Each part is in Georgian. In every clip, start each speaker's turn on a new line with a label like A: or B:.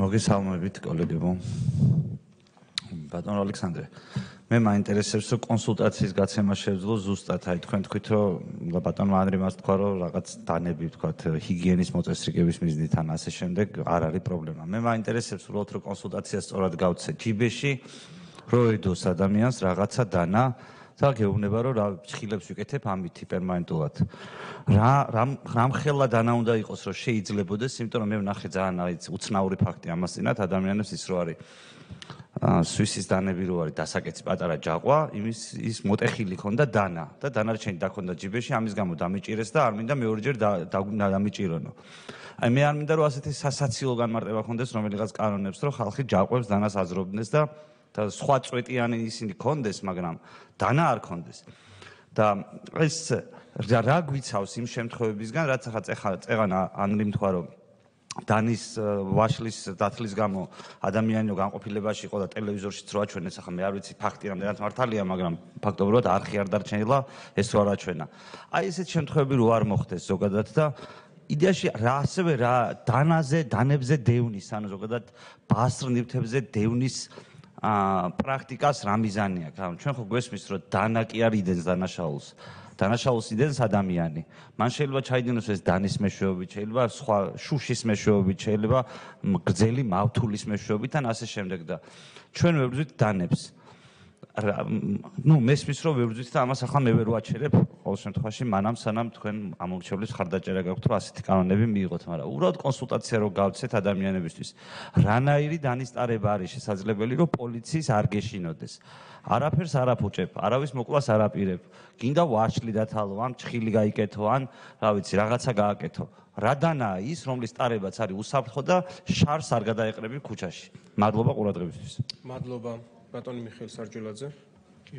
A: მოგესალმებით კოლეგებო. ბატონო ალექსანდრე, მე მაინტერესებს რომ კონსულტაციის გაცემა შეძლო ზუსტად, აი თქვენ თქვით რომ ბატონო ანდრიმას თქვა რომ რაღაც დანები თქვათ ჰიგიენის მოწესრიგების მიზნით ან ასე შემდეგ არ არის პრობლემა. მე მაინტერესებს უბრალოდ რომ კონსულტაცია სწორად გავცე ჯიბეში, რომ ედოს ადამიანს რაღაცა დანა და გეუბნება რომ რა ფხილებს ვიკეთებ ამით პერმანენტულად. რამ ხელა დანა უნდა იყოს რომ შეიძლებოდეს, იმიტომ რომ მე ვნახე ძალიან უცნაური ფაქტი ამას წინათ ადამიანებს ის რო არის სვისის დანები რო არის დასაკეცი პატარა ჯაყვა, ის მოტეხილი ქონდა დანა და დანარჩენი დაქონდა ჯიბეში, ამის გამო დამიჭირეს და არ მინდა მეორჯერ დამიჭირონო. აი მე არ მინდა რომ ასეთი სასაცილო განმარტება ქონდეს რომელიღაც კანონებს, რომ ხალხი ჯაყვებს დანას აზრობდნენ და სხვა წვეტიანი ისინი ქონდეს, მაგრამ დანა არ ქონდეს. და ეს რა გვიცავს იმ შემთხვევებისგან, რაც ახლა წეღან ანგრიმ თქვა რომ დანის ვაშლის დათლის გამო ადამიანი განყოფილებაში იყო და ტელევიზორშიც რო აჩვენეს, ახლა მე არ ვიცი ფაქტი რამდენად მართალია, მაგრამ ფაქტობრივად არხი არ დარჩენილა ეს რო არ აჩვენა. აი ესეთ შემთხვევები რო არ მოხდეს ზოგადად და იდეაში ასევე რა დანებზე დევნის, ანუ ზოგადად ბასრნივთებზე დევნის პრაქტიკას რა მიზანი აქვს? ჩვენ ხო გვესმის რომ დანა კი არ იდენს დანაშაულს. დანაშაულს იდენს ადამიანი. მან შეიძლება ჩაიდინოს ეს დანის მეშვეობით, შეიძლება სხვა შუშის მეშვეობით, შეიძლება გრძელი მავთულის მეშვეობით ან ასე შემდეგ და ჩვენ ვებრძვით დანებს. მესმის რომ ვებრძვით და ამას ახლა მე ვერ ვაჩერებ ყოველ შემთხვევაში მანამ სანამ თქვენ ამორჩევლის ხარდაჭერა გაქვთ რომ ასეთი კანონები მიიღოთ, მაგრამ უბრალოდ კონსულტაცია რო გავცეთ ადამიანებისთვის. რანაირი დანისტარება არის შესაძლებელი რომ პოლიციის არ გეშინოდეს. არაფერს არ აფუჭებ, არავის მოკლას არ აპირებ. გინდა ვაშლი დათალო, ან ჩხილი გაიკეთო, ან რა ვიცი, რაღაცა გააკეთო. რა დანაა ის, რომლის ტარებაც არის უსაფრთხო და შარს არ გადაეყრები ქუჩაში. მადლობა ყურადღებისთვის.
B: მადლობა ბატონი მიხეილ სარჯულაძე.
C: კი.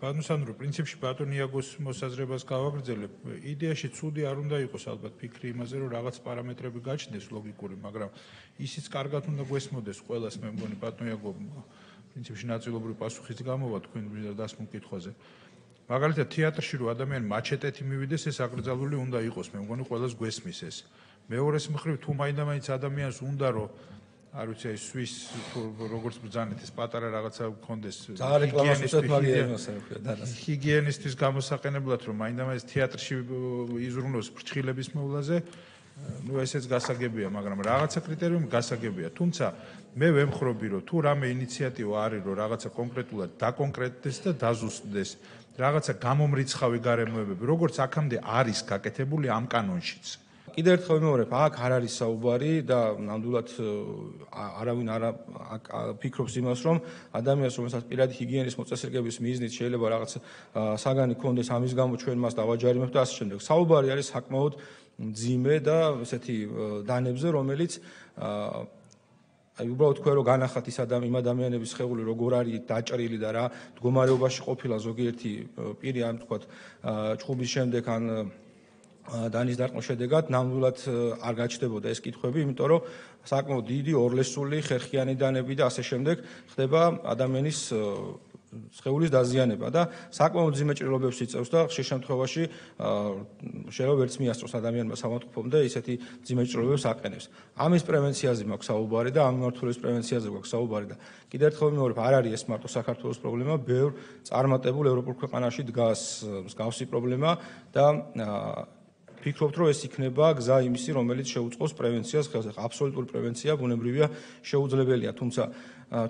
C: ბატონ სანდრო, პრინციპში ბატონ იაგოს მოსაზრებას გავაგრძელებ. იდეაში ცუდი არ უნდა იყოს ალბათ ფიქრი იმაზე, რომ რაღაც პარამეტრები გაჩნდეს ლოგიკური, მაგრამ ისიც კარგად უნდა გვესმოდეს ყველას, მე მგონი ბატონ იაგო პრინციპში ნაწილობრივ პასუხიც გამოვა თქვენ დასმულ კითხვაზე. მაგალითად თეატრში რო ადამიანი მაჩეტეთი მივიდეს, ეს აკრძალული უნდა იყოს, მე მგონი ყველას გვესმის ეს. მეორეს მხრივ თუ მაინდა-მაინც ადამიანს უნდა რომ არ ვიცი აი სვის როგორც ბრძანეთ ეს პატარა რაღაცა გქონდეს ჰიგიენისტის გამოსაყენებლად რომ მაინდა-მაინც თეატრში იზრუნოს ფრჩხილების მოვლაზე, ну ესეც გასაგებია, მაგრამ რაღაცა კრიტერიუმი გასაგებია. თუმცა მე ვემხრობი რომ თუ რამე ინიციატივა არის რომ რაღაცა კონკრეტულად დაკონკრეტდეს და დაზუსტდეს რაღაცა გამომრიცხავი გარემოებები, როგორც აქამდე არის გაკეთებული ამ კანონშიც.
B: კიდევ ერთხელ ვიმეორებ, აქ არ არის საუბარი და ნამდვილად არავინ არ ფიქრობს იმას, რომ ადამიანს, რომელსაც პირადი ჰიგიენის მოწესრიგების მიზნით შეიძლება რაღაც საგანი ქონდეს, ამის გამო ჩვენ მას დავაჯარიმებთ და ასე შემდეგ. საუბარი არის საკმაოდ მძიმე და ესეთი დანებზე, რომელიც აი უბრალოდ თქვენ რომ განახათ იმ ადამიანების სხეული როგორ არის დაჭრილი და რა მდგომარეობაში ყოფილა ზოგიერთი პირი ან თქვათ ჭხუბის შემდეგ ან დანის დარტყმის შედეგად ნამდვილად არ გაჩნდებოდა ეს კითხვები, იმიტომ რომ საკმაოდ დიდი ორლესული ხერხიანი დანები და ასე შემდეგ ხდება ადამიანის სხეულის დაზიანება და საკმაოდ მძიმე ჭრილობებს იწევს და ხშირ შემთხვევაში შეიძლება ვერც მიასწროს ადამიანმა სამართლობამდე ისეთი მძიმე ჭრილობებს აყენებს. ამის პრევენციაზე მაქვს საუბარი და ამ მიმართულების პრევენციაზე გვაქვს საუბარი და კიდევ ერთხელ ვიმეორებ, არ არის ეს მარტო საქართველოს პრობლემა, ბევრ წარმატებულ ევროპულ ქვეყანაში დგას მსგავსი პრობლემა და ფიქრობთ, რომ ეს იქნება გზა იმისი, რომელიც შეუწყოს პრევენციას ხელს. აბსოლუტური პრევენცია ბუნებრივია შეუძლებელია, თუმცა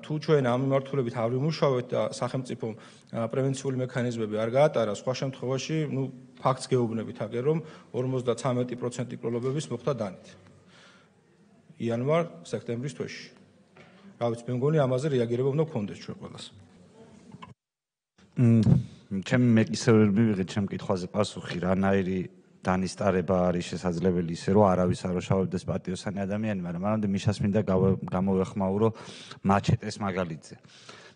B: თუ ჩვენ ამ მიმართულებით არ ვიმუშავებთ და სახელმწიფომ პრევენციული მექანიზმები არ გაატარა, სხვა შემთხვევაში, ფაქტს გეუბნებით აგერ, რომ 53% პროლობების მოხდა დანით. იანვარ-სექტემბრის თვეში. რა ვიცი, მე მგონი ამაზე რეაგირება უნდა გქონდეს ჩვენ ყველას.
A: ჩემი მეკისრები მივიღეთ ჩემ კითხვაზე პასუხი, რანაირი დანისტარება არის შესაძლებელი ისე რომ არავის არ უშავებდეს პატიოსანი ადამიანი, მაგრამ მანამდე მიშას მინდა გამოვეხმაურო მაჩეტეს მაგალითზე.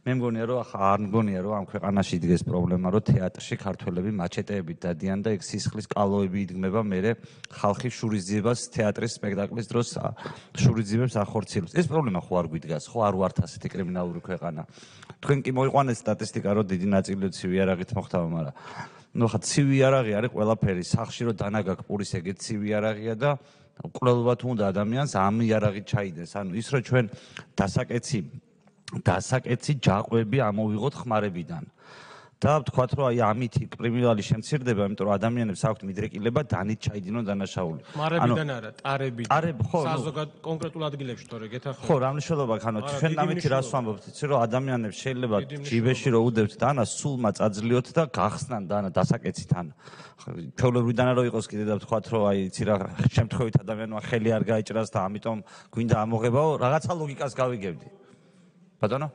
A: მე მგონია რომ არ მგონია რომ ამ ქვეყანაში იდგეს პრობლემა რომ თეატრში ქართველები მაჩეტეებით დადიან და ეგ სისხლის კალოები იდგმება მერე ხალხი შურისძიებას თეატრის სპექტაკლის დროს შურისძიებებს ახორციელებს. ეს პრობლემა ხო არ გვიდგას, ხო არ ვართ ასეთი კრიმინალური ქვეყანა. თქვენ კი მოიყვანეთ სტატისტიკა რომ დიდი ნაწილი ცივი არაღით მოხდება, მაგრამ ხა ცივი არაღი არის ყველაფერი, სახში რომ დანა გაქვს პურის ეგეც ცივი არაღია და კვლელობათ უნდა ადამიანს ამ იარაღით ჩაიდეს. ანუ ის რომ ჩვენ დასაკეცი ჯაყვები ამოვიღოთ ხმარებიდან. და ვთქვათ, რომ აი ამით კრიმინალი შემცირდება, იმიტომ რომ ადამიანებს აქვთ მიდრეკილება დანით ჩაიდინონ დანაშაული.
D: ხმარებიდან არა, ტარებიდან.
A: ტარებ ხო,
D: საზოგადო კონკრეტულ ადგილებში თორე გეთახმებით.
A: ხო, რა მნიშვნელობა აქვს? ანუ ჩვენ ამითი რას ვამბობთ, იცი რომ ადამიანებს შეიძლება ჯიბეში რო უდევთ დანა, სულმა წაძლიოთ და გახსნან დანა დასაკეცით ან ჩვეულებრივიდან რო იყოს კიდე და ვთქვათ, რომ აი იცი რა შემთხვევით ადამიანმა ხელი არ გაიჭრას და ამიტომ გვინდა ამოღებაო, რაღაცა ლოგიკას გავიგებდი. ბატონო?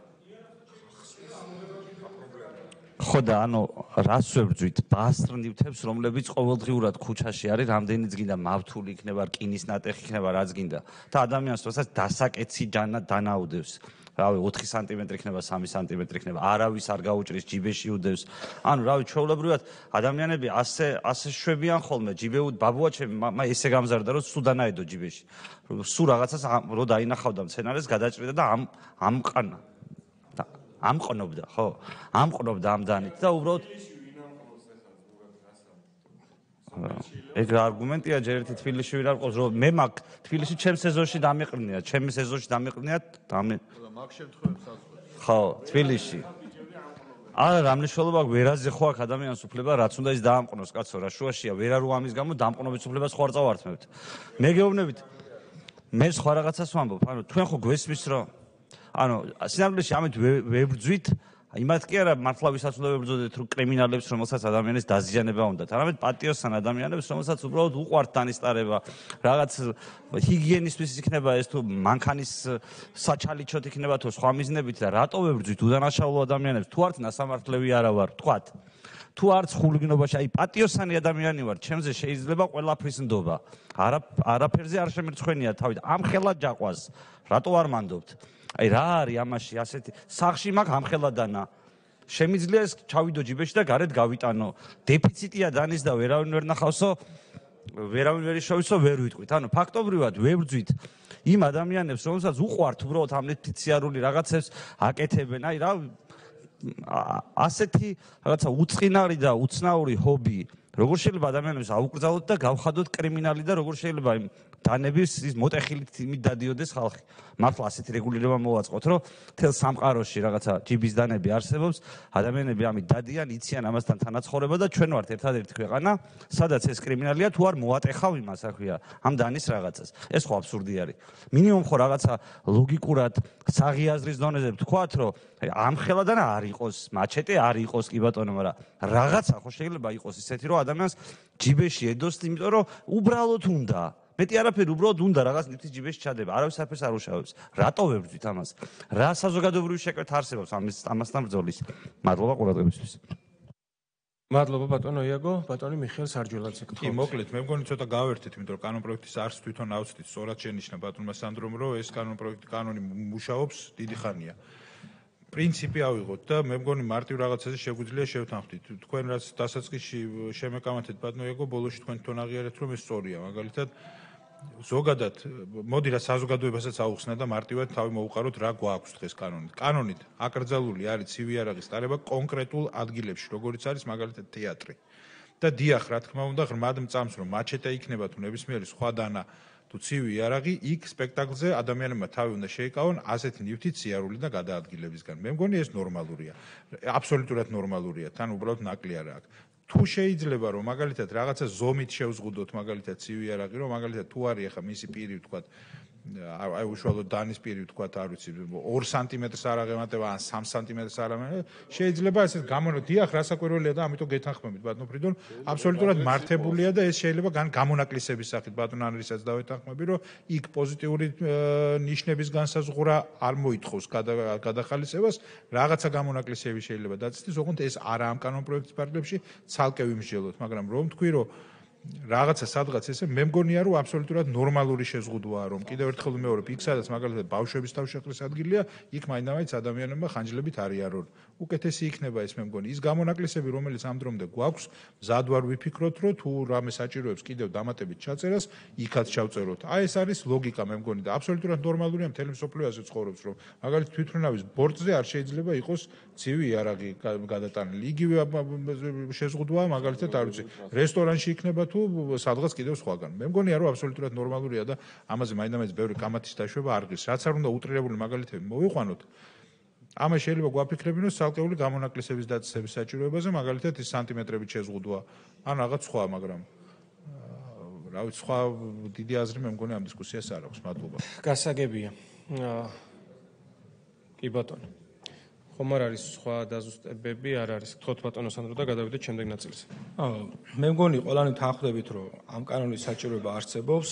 A: ხო და ანუ რას ვებრძვით ბასტრნივთებს, რომლებიც ყოველდღიურად ქუჩაში არის, რამდენიც გინდა მავთული იქნება, რკინის ნატეხი იქნება, რაც გინდა. და ადამიანს როდესაც დასაკეცი დანაუდევს, რავი 4 სანტიმეტრი იქნება, 3 სანტიმეტრი იქნება, არავის არ გაუჭრის, ჯიბეში უდევს. ანუ რავი ჩვეულებრივად ადამიანები ასე შვებიან ხოლმე, ჯიბეუდ ბაბუაჩემი ესე გამზარდა, რომ სულ დანაედო ჯიბეში. სულ რაღაცას რო დაინახავდა მცენარეს, გადაჭრიდა და ამყანა. ამყნობდა, ხო? ამყნობდა ამ დანით და უბრალოდ ეგ რა არგუმენტია ჯერ ერთი თბილისში ვინ არ ყავს, რომ მე მაგ თბილისში ჩემ სეზონში დამიყრნია, ჩემი სეზონში დამიყრნია
E: მაგ შემთხვევებს საზღვარგარეთ.
A: ხო, თბილისში. არა, რა მნიშვნელობა აქვს, ვერაზე ხო აქვს ადამიანს უფლება, რაც უნდა ის დაამყნოს, კაცო, რა შუაშია, ვერა რო ამის გამო დამყნობის უფლებას ხო არ წავართმევთ. მე გეუბნებით, მე სხვა რაღაცას ვამბობ, ანუ თქვენ ხო გვესმის, რომ ანუ სინამდვილეში ამით ვებრძვით, იმათ კი არა მართლა ვისაც უნდა ვებრძოდეთ, რომ კრიმინალებს, რომელსაც ადამიანის დაზიანება უნდათ, არამედ პატიოსან ადამიანებს, რომელსაც უბრალოდ უყვართ დანისტარება, რაღაც ჰიგიენისთვის იქნება ეს თუ მანქანის საჩალიჩოთ იქნება თუ სხვა მიზნებით და რატო ვებრძვით უდანაშაულო ადამიანებს, თუ არც ნასამართლევი არა ვარ, ვთქვათ. თუ არც ხულგინობაში, აი პატიოსანი ადამიანი ვარ, ჩემზე შეიძლება ყველაფრის ნდობა. არაფერზე არ შემერცხვენია თავით. ამხელა ჯაყვას, რატო არ მანდობთ? აი რა არის ამაში ასეთი სახში მაგ ამხელადანა შემიძლია ეს ჩავიდო ჯიბეში და გარეთ გავიტანო დეფიციტია დანის და ვერავინ ვერ ნახავსო ვერავინ ვერ იშოვისო ვერ ვიტყვით ანუ ფაქტობრივად ვებრძვით იმ ადამიანებს რომელსაც უყვართ უბრალოდ ამეთი ციარული რაღაცებს აკეთებენ აი რა ასეთი რაღაცა უწყინარი და უცნაური ჰობი როგორ შეიძლება ადამიანებს აუკრძალოთ და გავხადოთ კრიმინალი და როგორ შეიძლება იმ დანების ის მოტეხილით იმით დადიოდეს ხალხი. მართლა ასეთი რეგულირება მოვაწყოთ, რომ თელ სამყაროში რაღაცა ჯიბის დანები არსებობს, ადამიანები ამით დადიან, იციან ამასთან თანაცხოვრება და ჩვენ ვართ ერთადერთი ქვეყანა, სადაც ეს კრიმინალია თუ არ მოატეხავ იმას, აქვია, ამ დანის რაღაცას. ეს ხო აბსურდი არის. მინიმუმ ხო რაღაცა ლოგიკურად საღიაზრის დონეზე ვთქვათ, რომ ამხელადან არ იყოს, მაჩეტე არ იყოს კი ბატონო, მაგრამ რაღაცა ხო შეიძლება იყოს ისეთი, რომ ადამიანს ჯიბეში ედოს, იმიტომ რომ უბრალოდ უნდა მეტი არაფერი უბრალოდ უნდა რაღაც ნივთის ჯიბეში ჩადება. არავის არაფერს არ უშავებს. რატო ვებრძვით ამას? რა საზოგადოებრივი შეკვეთა არსებობს ამასთან ბრძოლის? მადლობა ყურადღებისთვის.
D: მადლობა ბატონო იაგო, ბატონი მიხეილ სარჯველაძე.
C: კი, მოკლედ, მე მგონი ცოტა გავერთეთ, იმიტომ რომ კანონპროექტის არც თვითონ ავწვით, სწორად შენიშნა ბატონმა სანდრომ, რომ ეს კანონი მუშაობს დიდი ხანია. პრინციპი ავიღოთ და მე მგონი მარტივ რაღაცაზე შეგვიძლია შევთანხმდით. თქვენ რაც დასაწყისში შემეკამათეთ ბატონო იაგო, ბოლოში თქვენ თვითონ აღიარეთ, რომ ეს სწორია. მაგალითად ზოგადად მოდი რა საზოგადოებასაც აუხსნა და მარტივად თავი მოუყაროთ რა გვაქვს დღეს კანონით. კანონით აკრძალული არის ცივი იარაღის ტარება კონკრეტულ ადგილებში, როგორიც არის მაგალითად თეატრი. და დიახ, რა თქმა უნდა, ღრმად მწამს, რომ მაჩეტე იქნება თუ ნებისმიერი სხვა დანა თუ ცივი იარაღი, იქ სპექტაკლზე ადამიანებმა თავი უნდა შეიკავონ ასეთი ნივთით სიარული და გადაადგილებისგან. მე მგონი ეს ნორმალურია. აბსოლუტურად ნორმალურია, თან უბრალოდ ნაკლი არა აქვს. თუ შეიძლება რომ მაგალითად რაღაცა ზომით შევზღუდოთ მაგალითად ცივი იარაღი, რომ მაგალითად თუ არის ახლა მისი პირი ვთქვათ აი უშუალოდ დანის პირი ვთქვათ არ ვიცი 2 სანტიმეტრს არ აღემატება ან 3 სანტიმეტრს არ აღემატება შეიძლება ესეთ დიახ რასაკვირველია და ამიტომ გეთანხმებით ბატონო ფრიდონ აბსოლუტურად მართებულია და ეს შეიძლება გამონაკლისების სახით ბატონ ანრისაც დავეთანხმები რომ იქ პოზიტიური ნიშნების განსაზღვრა არ მოითხოვს გადახალისებას რაღაცა გამონაკლისები შეიძლება დაწესდეს ოღონდ ეს არა ამ კანონპროექტის პარალელში ცალკე ვიმსჯელოთ მაგრამ რომ თქვი რომ რაღაცა სადღაც ესე მე მგონია რომ აბსოლუტურად ნორმალური შეზღუდვაა რომ კიდევ ერთხელ ვიმეორებ იქ სადაც მაგალითად ბავშვების თავშეყრის ადგილია იქ მაინდამაინც ადამიანებმა ხანჯლებით არ იარონ უკეთესი იქნება ეს მე მგონი ის გამონაკლისები რომელიც ამ დრომდე გვაქვს მზად ვარ ვიფიქროთ რომ თუ რამე საჭიროებს კიდევ დამატებით ჩაწერას იქაც ჩავწეროთ აი ეს არის ლოგიკა მე მგონი და აბსოლუტურად ნორმალურია მთელი მსოფლიო ასე ცხოვრობს რომ მაგალითად თვითმფრინავის ბორტზე არ შეიძლება იყოს ცივი იარაღი გადატანილი იგივე შეზღუდვაა მაგალითად არ ვიცი რესტორანში იქნება თუ სადღაც კიდევ სხვაგან. მე მგონია რომ აბსოლუტურად ნორმალურია და ამაზე მაინც ბევრი კამათის დაშვება არ ღირს. რაც არ უნდა უტრირებული მაგალითები მოვიყვანოთ. ამას შეიძლება გვაფიქრებინოს ცალკეული გამონაკლისების დაწესების საჭიროებაზე, მაგალითად ის სანტიმეტრებით შეზღუდვა, ან რაღაც სხვა, მაგრამ რა ვიცი, სხვა დიდი აზრი მე მგონი ამ დისკუსიას არ აქვს. მადლობა.
D: გასაგებია. კი ბატონო. ხომ არ არის სხვა დაზუსტებები, არ არის. გთხოვთ ბატონო სანდრო და გადავიდეთ შემდეგ ნაწილზე.
B: მე მგონი ყველანი თანხმდებით, რომ ამ კანონის საჭიროება არსებობს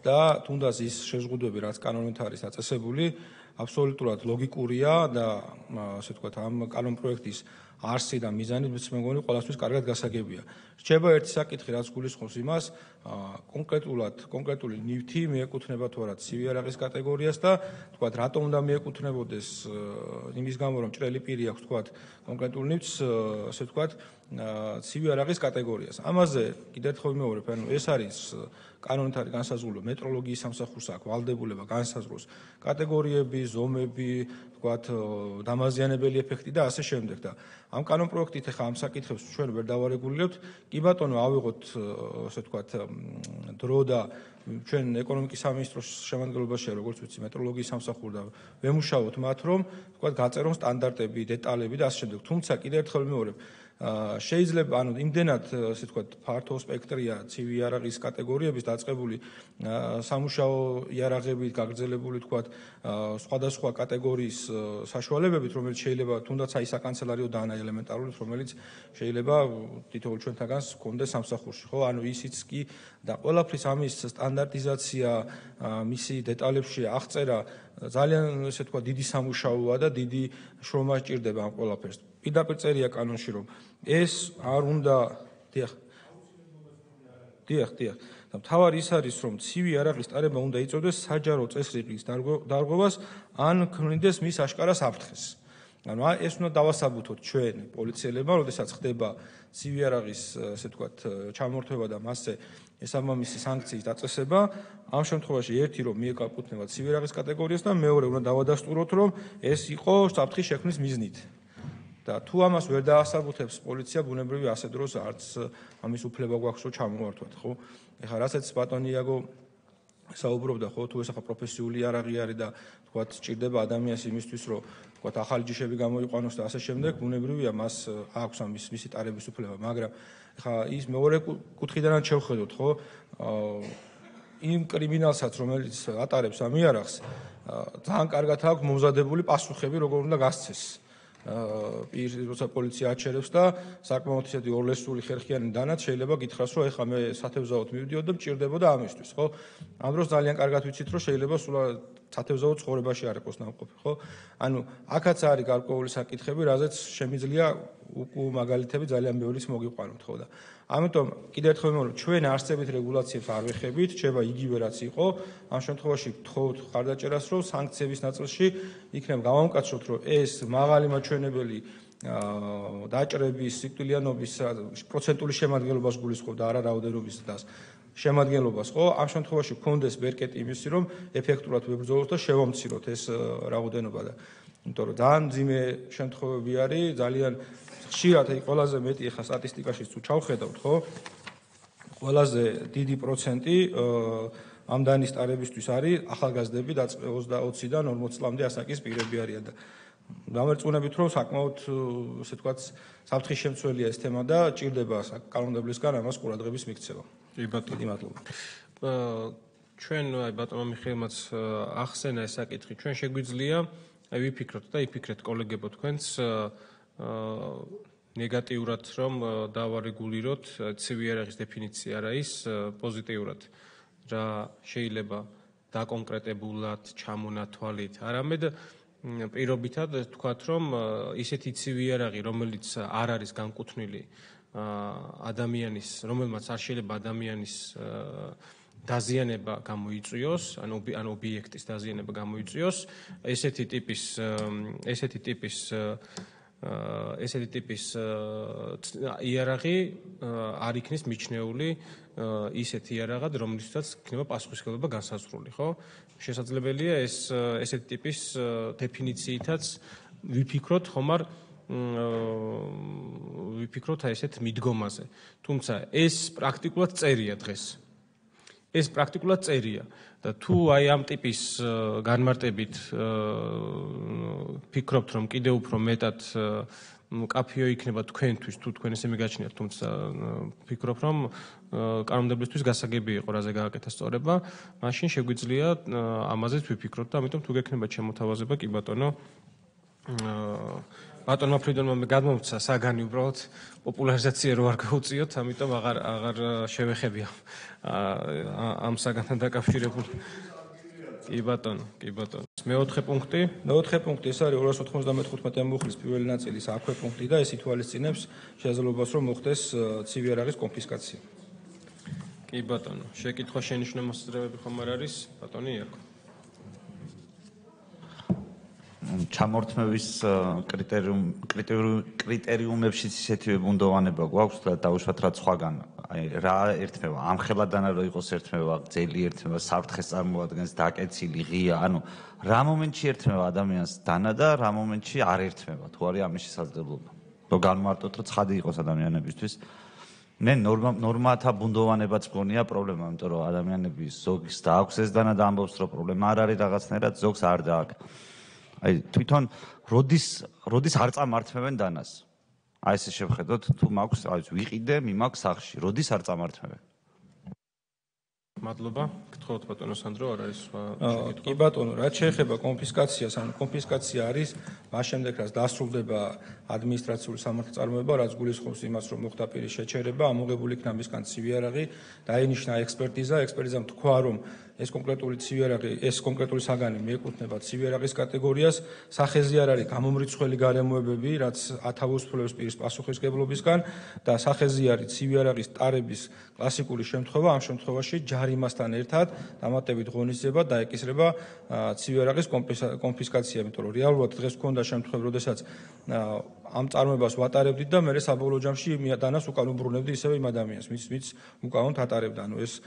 B: და თუნდაც ის შეზღუდვები, რაც კანონით არის დაწესებული, აბსოლუტურად ლოგიკურია და ასე ვთქვათ, ამ კანონპროექტის არსი და მიზანი მე მგონი ყველასთვის კარგად გასაგებია. რჩება ერთი საკითხი, რაც გულისხმობს იმას, კონკრეტული ნივთი მიეკუთვნება თუ არა ცივი იარაღის კატეგორიას და ვთქვათ, რატომ უნდა მიეკუთვნებოდეს იმის გამო, რომ ჭრელი პირი აქვს ვთქვათ, კონკრეტულ ნივთს, ასე ვთქვათ, ცივი იარაღის კატეგორიას. ამაზე კიდევ ერთხელ ვიმეორებ, ანუ ეს არის კანონით არის განსაზღვრული მეტროლოგიის სამსახურს აქვს ვალდებულება განსაზღვროს კატეგორიები, ზომები, ვთქვათ, დამაზიანებელი ეფექტი და ასე შემდეგ და ამ კანონპროექტით ახლა ამ საკითხებს ჩვენ ვერ დავარეგულირებთ. კი ბატონო, ავიღოთ ასე ვთქვათ, დრო და ჩვენ ეკონომიკის სამინისტროს შემადგენლობაშია, როგორც ვიცი, მეტროლოგიის სამსახური და ვემუშაოთ მათ, რომ ვთქვათ, გაწერონ სტანდარტები, დეტალები და ასე შემდეგ. თუმცა კიდევ ერთხელ ვიმეორებ, შეიძლება ანუ იმდენად ასე ვთქვათ ფართო სპექტრია ცივი იარაღის კატეგორიების დაწყებული სამუშაო იარაღებით გაგრძელებული ვთქვათ სხვადასხვა კატეგორიის საშუალებებით რომელიც შეიძლება თუნდაც აი საკანცელარიო დანა ელემენტარული რომელიც შეიძლება თითოეულ ჩვენთაგანს გქონდეს სამსახურში ხო ანუ ისიც კი და ყველაფრის ამის სტანდარტიზაცია მისი დეტალებში აღწერა ძალიან ესე ვთქვათ დიდი სამუშაოა და დიდი შრომა სჭირდება ამ ყველაფერს პირდაპირ წერია კანონში რომ ეს არ უნდა დიახ და მთავარი ის არის რომ ცივი იარაღის ტარება უნდა იწოდოს საჯარო წესრიგის დარღვევას ან ქმნიდეს მის აშკარა საფრთხეს ანუ ეს უნდა დავასაბუთოთ ჩვენ პოლიციელებმა როდესაც ხდება ცივი იარაღის ასე ვთქვათ ჩამორთმევა და მასზე ესაბამისი სანქციის დაწესება ამ შემთხვევაში ერთი რომ მიეკუთვნება ცივი იარაღის კატეგორიას და მეორე უნდა დავადასტუროთ რომ ეს იყო საფრთხის შექმნის მიზნით და თუ ამას ვერ დაასაბუთებს პოლიცია ბუნებრივი ასე დროს არც ამის უფლება გვაქვს რომ ჩამოვართვათ ხო ეხლა რასაც ბატონი იაგო საუბრობდა ხო თუ ეს ახლა პროფესიული იარაღი არის და თქვათ სჭირდება ადამიანს იმისთვის რომ თქვათ ახალი ჯიშები გამოიყვანოს და ასე შემდეგ ბუნებრივია მას აქვს ამის მისი ტარების უფლება მაგრამ ეხლა ის მეორე კუთხიდანაც შევხედოთ ხო იმ კრიმინალსაც რომელიც ატარებს ამ იარაღს ძალიან კარგად აქვს მომზადებული პასუხები როგორ უნდა გასცეს პირს როცა პოლიცია აჩერებს და საკმაოდ ისეთი ორლესული ხერხიანი დანაც შეიძლება გითხრას რომ ეხლა მე სათევზაოდ მივდიოდ და მჭირდებოდა ამისთვის ხო ამ დროს ძალიან კარგად ვიცით რომ შეიძლება სულ სათევზაოდ ცხოვრებაში არ იყოს ნამყოფი ხო ანუ აქაც არის გარკვეული საკითხები რაზეც შემიძლია მაგალითები ძალიან ბევრიც მოგიყვანოთ ხო და ამიტომ კიდევ ერთხელ ვიმეორებ ჩვენ არსებით რეგულაციებს არ ვეხებით რჩება იგივე რაც იყო ამ შემთხვევაში გთხოვთ ხარდაჭერას რომ სანქციების ნაწილში იქნება გამომკაცროთ რომ ეს მაღალი მაჩვენებელი დაჭრების სიკვდილიანობის პროცენტული შემადგენლობას გულისხმობდა არა რაოდენობის და შემადგენლობას ხო ამ შემთხვევაში გქონდეს ბერკეტი იმისი რომ ეფექტურად ვებრძოლოთ და შევამციროთ ეს რაოდენობა და იმიტომ რომ ძალიან ძიმე შემთხვევები არის ძალიან ხშირად აი ყველაზე მეტი ახლა სტატისტიკაში თუ ჩავხედავთ ხო ყველაზე დიდი პროცენტი ამ დანის ტარებისთვის არის ახალგაზრდები 20-დან 40 წლამდე ასაკის პირები არიან და დამერწმუნებით რომ საკმაოდ ასე ვთქვათ საფრთხის შემცველია ეს თემა და ჭირდება კანონმდებლისგან ამას ყურადღების მიქცევა.
D: კი ბატონო მადლობა. ჩვენ აი ბატონო მიხეილმაც ახსენა ეს საკითხი ჩვენ შეგვიძლია აი ვიფიქროთ და იფიქრეთ კოლეგებო თქვენს ნეგატიურად რომ დავარეგულიროთ ცივი იარაღის დეფინიცია რა ის პოზიტიურად რა შეიძლება დაკონკრეტებულად ჩამონათვალით არამედ პირობითად თქვათ რომ ისეთი ცივი იარაღი რომელიც არ არის განკუთვნილი ადამიანის რომელმაც არ შეიძლება ადამიანის დაზიანება გამოიწვიოს ან ობიექტის დაზიანება გამოიწვიოს ესეთი ტიპის იარაღი არ იქნის მიჩნეული ისეთი იარაღად რომლითაც იქნება პასუხისმგებლობა განსაზღვრული ხო შესაძლებელია ეს ესეთი ტიპის დეფინიციითაც ვიფიქროთ ხომ არ ვიფიქროთ აი ესეთ მიდგომაზე. თუმცა ეს პრაქტიკულად წერია დღეს. ეს პრაქტიკულად წერია და თუ აი ამ ტიპის განმარტებით ფიქრობთ, რომ კიდევ უფრო მეტად კაფეო იქნება თქვენთვის, თუ თქვენ ესე მიგაჩნიათ, თუმცა ფიქრობ, რომ კანონმდებლისთვის გასაგები იყო რაზე გააკეთა სწორება, მაშინ შეგვიძლია ამაზეც ვიფიქროთ და ამიტომ თუ გექნება შემოთავაზება, კი ბატონო, ბატონმა ფრიდონმა გადმომცა საგანი უბრალოდ პოპულარიზაცია რო არ გაუწიოთ, ამიტომ აღარ შევეხებია ამ საგანთან დაკავშირებული. კი ბატონო. მეოთხე პუნქტი.
B: მეოთხე პუნქტი ეს არის 295 მუხლის პირველი ნაწილის აქვე პუნქტი და ეს ითვალისწინებს შესაძლებლობას, რომ მოხდეს ცივი არაღის კონფისკაცია.
D: კი ბატონო, შეკითხვა შენიშვნა მოსაზრებები ხომ არ არის? ბატონი იაკო.
A: ჩამორთმევის კრიტერიუმებში ისეთივე ბუნდოვანება გვაქვს და დაუშვათ რაც სხვაგან. აი რა ერთმევა, ამხელადანა რო იყოს ერთმევა, ძელი ერთმევა, საფრთხეს წარმოადგენს, დაკეცილი, ღია, ანუ რა მომენტში ერთმევა ადამიანს დანა და რა მომენტში არ ერთმევა, თუ არის ამის შესაძლებლობა. რომ განმარტოთ, რომ ცხადი იყოს ადამიანებისთვის. მე ნორმათა ბუნდოვანებაც მგონია პრობლემა, იმიტომ რომ ადამიანები ზოგს დააქვს ეს დანა და ამბობს, რომ პრობლემა არ არის რაღაცნაირად, ზოგს არ დააქვს. აი თვითონ როდის არ წამართმევენ დანას? აი ესე შევხედოთ, თუ მაქვს, აი ვიყიდე, მიმაქვს სახში, როდის არ წამართმევენ?
D: მადლობა. გთხოვთ ბატონო სანდრო, არ არის სხვა
B: შეკითხვა? კი ბატონო, რაც შეეხება კონფისკაციას, ანუ კონფისკაცია არის მას შემდეგ, რაც დასრულდება ადმინისტრაციული სამართალწარმოება, რაც გულისხმობს იმას, რომ მოხდა პირის შეჩერება, ამოღებული იქნა მისგან ცივი არაღი, დაინიშნა ექსპერტიზა, ექსპერტიზამ თქვა, რომ ეს კონკრეტული საგანი მიეკუთვნება ცივი არაღის კატეგორიას, სახეზე არ არის გამომრიცხველი გარემოებები, რაც ათავისუფლებს პირის პასუხისმგებლობისგან და სახეზე არის ცივი არაღის ტარების კლასიკური შემთხვევა, ამ შემთხვევაში ჯარიმასთან ერთად დამატებით ღონისძიება დაეკისრება ცივი არაღის კონფისკაცია, იმიტომ რომ რეალურად დღეს გქონდა შემთხვევა, როდესაც ამ წარმოებას ვატარებდით და მე საბოლოო ჯამში დანას უკან უბრუნებდი ისევე იმ ადამიანს, ვინც უკანონოდ ატარებდა. ანუ ეს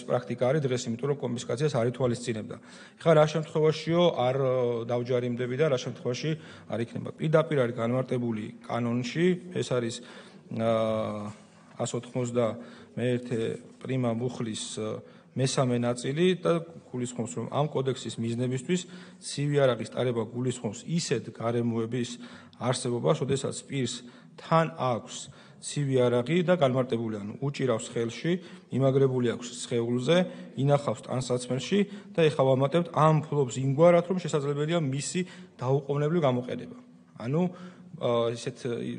B: პრაქტიკა არის დღეს, იმიტომ რომ კონფისკაციას არ ითვალისწინებდა. ეხლა რა შემთხვევაშიო არ დავჯარიმდები და რა შემთხვევაში არ იქნება? პირდაპირ არის განმარტებული კანონში, ეს არის 191 პრიმა მუხლის მესამე ნაწილი და გულისხმობს, რომ ამ კოდექსის მიზნებისთვის ცივი არაღის ტარება გულისხმობს ისეთ გარემოების არსებობას, როდესაც პირს თან აქვს ცივი არაღი და განმარტებული, ანუ უჭირავს ხელში, იმაგრებული აქვს სხეულზე, ინახავს ტანსაცმელში და ეხლა ვამატებთ ამ ფლობს იმგვარად, რომ შესაძლებელია მისი დაუყოვნებლივ გამოყენება. ანუ ისეთ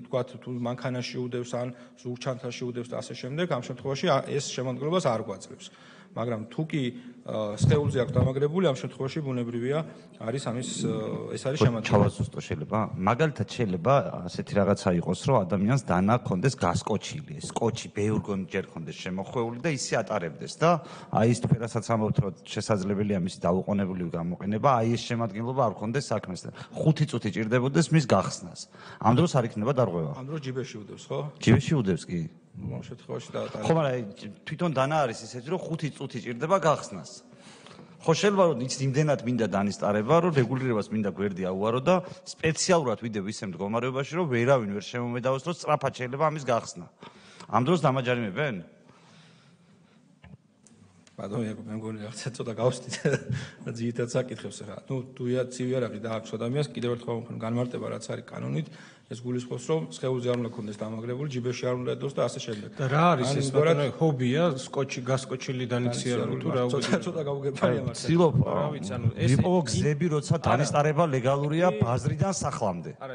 B: თქვათ თუ მანქანაში უდევს ან ზურგჩანთაში უდევს და ასე შემდეგ, ამ შემთხვევაში ეს შემოდგენობას არ გვაძლევს. მაგრამ თუ კი სხეულზე აქვს დამაგრებული, ამ შემთხვევაში ბუნებრივია არის ეს არის შემოდგენა.
A: ჩავასუსტო შეიძლება. მაგალითად შეიძლება ასეთი რაღაცა იყოს, რომ ადამიანს დანა ქონდეს გასკოჩილი, ეს კოჩი ბევრგონ ჯერ ქონდეს შემოხვეული და ისე ატარებდეს და აი ის თქერასაც ამბობთ, რომ შესაძლებელია მისი დაუყოვნებლივ გამოყენება, აი ეს შემოდგენლობა არ ქონდეს საქმეს და 5 წუთი ჭირდებოდეს მის გახსნას. ამ დროს არ იქნება დარღვევა.
B: ამ დროს ჯიბეში უდევს, ხო?
A: ჯიბეში უდევს კი.
B: ამ შემთხვევაში და
A: ხო, მაგრამ თვითონ დანა არის ისეთი, რომ 5 წუთი ჭირდება გახსნას. ხო შეიძლება რომ იცი იმდენად მინდა დანისტარება, რომ რეგულირებას მინდა გვერდი აუარო და სპეციალურად ვიდევ ისე მდგომარეობაში, რომ ვერავინ ვერ შემომედავოს, რომ სწრაფად შეიძლება ამის გახსნა. ამ დროს დამაჯარიმებენ?
B: ბატონო, მე მგონი რაღაცა ცოტა გავსდით და ძირითადად საკითხებს ახლა. ნუ თუია ცივი არაღი დააქვს ადამიანს, კიდევ ერთხელ ვამბობ, განმარტება რაც არის კანონით, ეს გულისხმობს, რომ სხეულზე არ უნდა ქონდეს დამაგრებული, ჯიბეში არ უნდა ედოს და ასე შემდეგ.
D: და რა არის ეს ბატონო, ჰობია, გასკოჩილი დანიციარული თუ რა
B: უგებია? ცოტა გავუგებარია მაგრამ.
A: ცდილობ, იყო გზები, როცა დანისტარება ლეგალურია ბაზრიდან სახლამდე.
D: არა,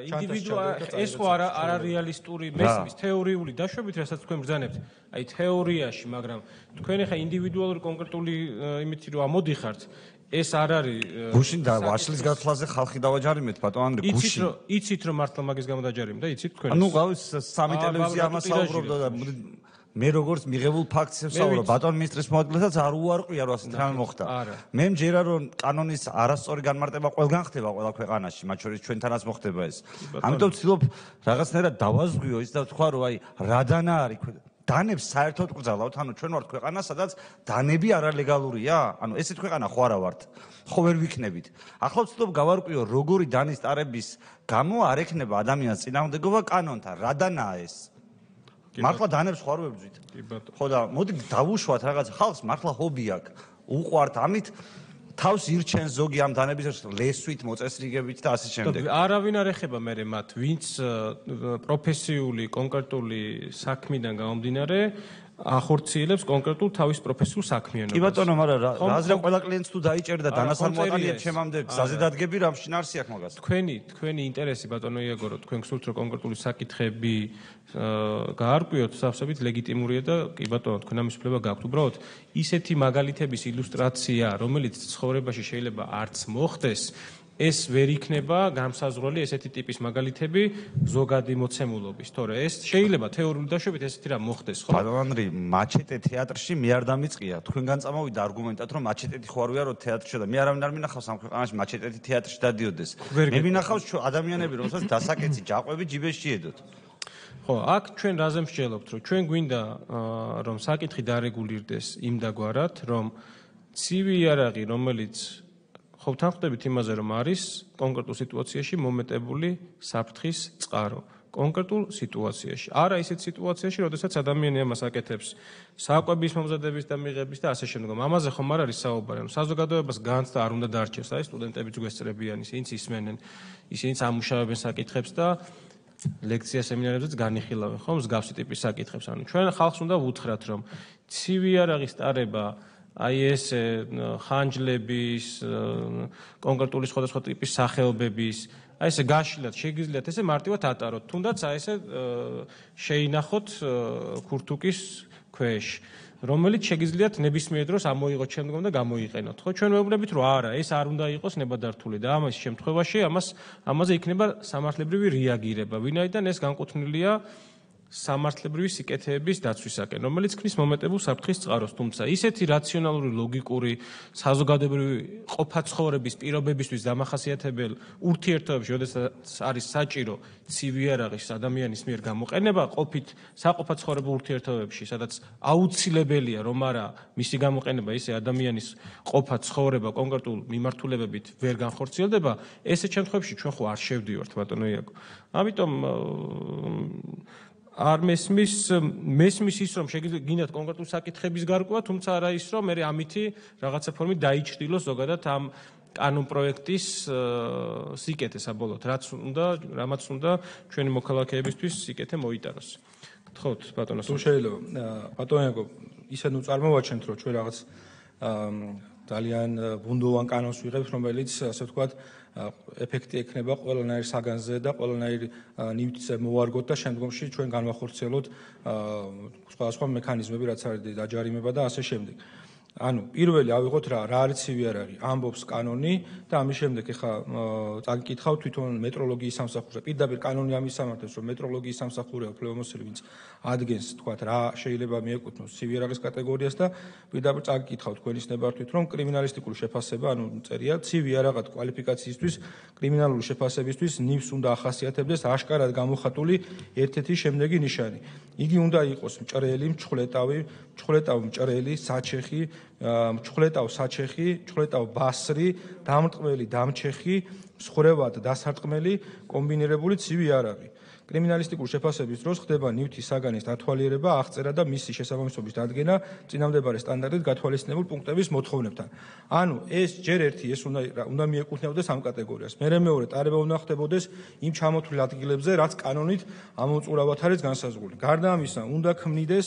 D: ეს ხო არა რეალისტური მესმის თეორიული დაშვებით, რასაც თქვენ ბრძანებთ. აი თეორიაში, მაგრამ თქვენ ახლა ინდივიდუალური კონკრეტული იმითი რომ ამოდიხართ, ეს არ არის
A: გუშინ და ვაშლის გათვლაზე ხალხი დავაჯარიმეთ ბატონო ანდრე გუშინ.
D: იცით რომ მართლა მაგის გამო დაჯარიმდა, იცით თქვენ?
A: ანუ გავის სამი ტელევიზია ამას საუბრობდა და მე როგორც მიღებულ ფაქტს ვსაუბრობ, ბატონ მინისტრის მოადგილესაც არ უარყვია რომ ასეთი რამე მოხდა. მე მჯერა რომ კანონის არასწორი განმარტება ყველგან ხდება ყველა ქვეყანაში, მათ შორის ჩვენთანაც მოხდება ეს. ამიტომ ვცდილობ რაღაცნაირად დავაზღვიო ის და ვთქვა რომ აი რა დანა არის დანებს საერთოდ გრძალავთ, ანუ ჩვენ ვართ ქვეყანა, სადაც დანები არალეგალურია? ანუ ესეთ ქვეყანა ხო არა ვართ? ხო ვერ ვიქნებით. ახლა ვცდილობ გავარკვიო, როგორი დანის ტარების გამო არ ექნება ადამიანს წინააღმდეგობა კანონთან. რა დანაა ეს? მართლა დანებს ხო არ ვებძვით? ხო და მოდი დავუშვათ რაღაც ხალხს, მართლა ჰობი აქვს. უყვართ ამით თავს ირჩენს ზოგი ამ დანების ლესვით, მოწესრიგებით და ასე შემდეგ.
D: არავინ არ ეხება მე მათ, ვინც პროფესიული, კონკრეტული საქმიდან გამომდინარე ახორციელებს კონკრეტულ თავის პროფესიულ საქმიანობას.
A: კი ბატონო, მაგრამ რაზრა ყველა კლიენტს თუ დაიჭერდა დანას არ მოაყენიეთ ჩემამდე გზაზე დადგები, რა შინარსი აქვს მაგას.
D: თქვენი ინტერესი ბატონო იაგორო, თქვენ გსურთ რომ კონკრეტული საკითხები გაარკვიოთ, სავსებით ლეგიტიმურია და კი ბატონო, თქვენ ამის უფლება გაქვთ. უბრალოდ ისეთი მაგალითების ილუსტრაცია, რომელიც ცხოვრებაში შეიძლება არც მოხდეს, ეს ვერ იქნება განსაზღვრელი ესეთი ტიპის მაგალითები ზოგადი მოცემულობის. თორე ეს შეიძლება თეორიული დაშვებით ესეთი რა მოხდეს, ხო?
A: ბატონი, მაჩეტე თეატრში მე არ დამიწყია. თქვენგან წამოვიდა არგუმენტად, რომ მაჩეტეთი ხო არ ვიარო თეატრში და მე არავინ არ მინახავს ამ ქვეყანაში მაჩეტეთი თეატრში დადიოდეს. მე მინახავს ადამიანები, რომელსაც დასაკეცი ჯაყვები ჯიბეში ედოთ.
D: ხო, აქ ჩვენ რაზე მსჯელობთ, რომ ჩვენ გვინდა რომ საკითხი დარეგულირდეს იმ დაგვარად, რომ ცივი იარაღი, რომელიც ხო თანხმდებით იმაზე, რომ არის კონკრეტულ სიტუაციაში მომეტებული საფრთხის წყარო. კონკრეტულ სიტუაციაში. არა ისეთ სიტუაციაში, როდესაც ადამიანი ამას აკეთებს საკვების მომზადების და მიღების და ასე შემდგომ. ამაზე ხომ არ არის საუბარი. საზოგადოებას განც და არ უნდა დარჩეს, აი სტუდენტებიც გვესწრებიან, ისინიც ისმენენ, ისინიც ამუშავებენ საკითხებს და ლექცია სემინარებზეც განიხილავენ, ხო, მსგავსი ტიპის საკითხებს. ანუ ჩვენ ხალხს უნდა ვუთხრათ, რომ ცივი იარაღის ტარება აი ეს ხანჯლების, კონკრეტული სხვადასხვა ტიპის სახეობების, აი ესე გაშლილად შეგიძლიათ ესე მარტივად ატაროთ, თუნდაც აი ესე შეინახოთ ქურთუკის ქვეშ, რომელიც შეგიძლიათ ნებისმიერ დროს ამოიღოთ შემდგომ და გამოიყენოთ. ხო, ჩვენ ვეუბნებით, რომ არა, ეს არ უნდა იყოს ნებადართული და ამის შემთხვევაში ამაზე იქნება სამართლებრივი რეაგირება, ვინაიდან ეს განკუთვნილია სამართლებრივი სიკეთეების დაცვისაკენ, რომელიც ქმნის მომეტებულ საფრთხის წყაროს, თუმცა ისეთი რაციონალური, ლოგიკური, საზოგადოებრივი ყოფა-ცხოვრების პირობებისთვის დამახასიათებელ ურთიერთობებში, როდესაც არის საჭირო ცივი იარაღის ადამიანის მიერ გამოყენება, ყოფით საყოფა-ცხოვრებულ ურთიერთობებში, სადაც აუცილებელია, რომ არა მისი გამოყენება ისე ადამიანის ყოფა-ცხოვრება კონკრეტულ მიმართულებებით ვერ განხორციელდება, ესეთ შემთხვევებში ჩვენ ხო არ შევდივართ, ბატონო იაკო. ამიტომ არ მესმის ის, რომ შეგიძლიათ კონკრეტულ საკითხების გარკვევა, თუმცა არა ის, რომ მე ამითი რაღაცა ფორმით დაიჭრილოს ზოგადად ამ კანონ პროექტის სიკეთე საბოლოოდ, რამაც უნდა ჩვენი მოქალაქეებისთვის სიკეთე მოიტანოს. გთხოვთ, ბატონო.
B: თუ შეიძლება, ბატონო იაკო, ისე ნუ წარმოვაჩენთ, რომ ჩვენ რაღაც ძალიან ბუნდოვან კანონს ვიღებთ, რომელიც ასე ვთქვათ ეფექტი ექნება ყველანაირ საგანზე და ყველანაირ ნივთზე მოვარგოთ და შემდგომში ჩვენ განვახორციელოთ სხვადასხვა მექანიზმები, რაც არის დაჯარიმება და ასე შემდეგ. ანუ პირველი ავიღოთ რა არის ცივი იარაღი, ამბობს კანონი და ამის შემდეგ ეხა წაგიკითხავთ თვითონ მეტროლოგიის სამსახურზე. პირდაპირ კანონი ამის სამართლებს, რომ მეტროლოგიის სამსახურია უფლებამოსილი, ვინც ადგენს, თქვათ, რა შეიძლება მიეკუთვნოს ცივი იარაღის კატეგორიას და პირდაპირ წაგიკითხავთ თქვენის ნებართვით, რომ კრიმინალისტიკური შეფასება, ანუ წერია, ცივი იარაღად კვალიფიკაციისთვის, კრიმინალური შეფასებისთვის ნივს უნდა ახასიათებდეს აშკარად გამოხატული ერთ-ერთი შემდეგი ნიშანი. იგი უნდა იყოს მჭრელი, მჭრელტავ მჭრელი, საჩეხი, მჭრელტავ საჩეხი, მჭრელტავ ბასრი, დამრტყმელი დამჩეხი, მსხრევად დასარტყმელი, კომბინირებული ცივი იარაღი. კრიმინალისტიკური შეფასების დროს ხდება ნივთის საგანის დათვალიერება, აღწერა და მისი შესაბამისობის დადგენა წინამდებარე სტანდარტით გათვალისწინებულ პუნქტების მოთხოვნებთან. ანუ ეს ჯერ ერთი ეს უნდა მიეკუთვნებოდეს ამ კატეგორიას. მეორე ტარება უნდა ხდებოდეს იმ ჩამოთვლილ ადგილებზე, რაც კანონით ამოწურავად არის განსაზღვრული. გარდა ამისა, უნდა ქმნიდეს